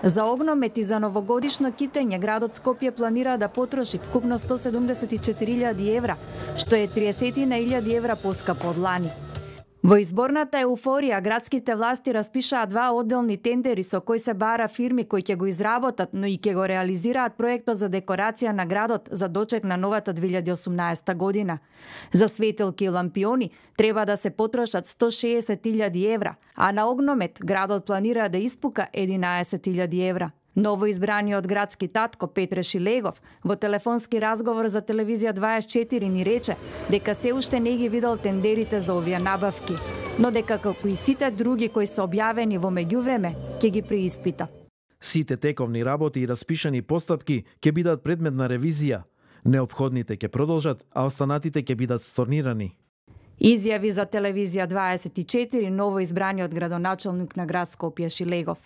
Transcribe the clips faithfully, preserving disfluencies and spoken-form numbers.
За огномет и за новогодишно китење градот Скопје планира да потроши вкупно сто седумдесет и четири илјади евра, што е триесет илјади евра поскапо од лани. Во изборната еуфорија, градските власти распишаа два одделни тендери со кои се бара фирми кои ќе го изработат, но и ќе го реализираат проектот за декорација на градот за дочек на новата две илјади и осумнаесета година. За светилки и лампиони треба да се потрошат сто шеесет илјади евра, а на огномет градот планира да испука единаесет илјади евра. Новоизбраниот градски татко Петре Шилегов во телефонски разговор за телевизија дваесет и четири ни рече дека се уште не ги видел тендерите за овие набавки, но дека како и сите други кои се објавени во меѓувреме ќе ги преиспита. Сите тековни работи и распишани постапки ќе бидат предмет на ревизија. Неопходните ќе продолжат, а останатите ќе бидат сторнирани. Изјави за телевизија дваесет и четири новоизбраниот градоначалник на град Скопје Шилегов.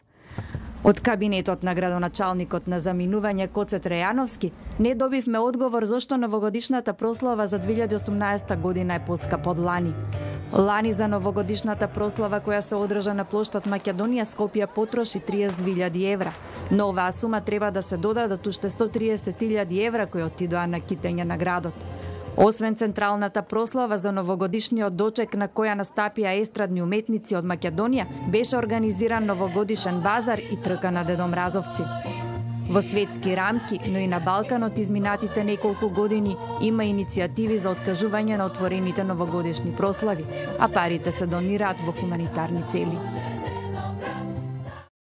Од кабинетот на градоначалникот на заминување Коце Трајановски не добивме одговор зошто новогодишната прослава за две илјади и осумнаесета година е поскапа од лани. Лани за новогодишната прослава која се одржа на плоштад Македонија Скопје потроши триесет две илјади евра, но оваа сума треба да се додадат уште сто триесет илјади евра кои отидоа на китење на градот. Освен централната прослава за новогодишниот дочек на која настапија естрадни уметници од Македонија, беше организиран новогодишен базар и трка на дедомразовци. Во светски рамки, но и на Балканот изминатите неколку години има иницијативи за откажување на отворените новогодишни прослави, а парите се донираат во хуманитарни цели.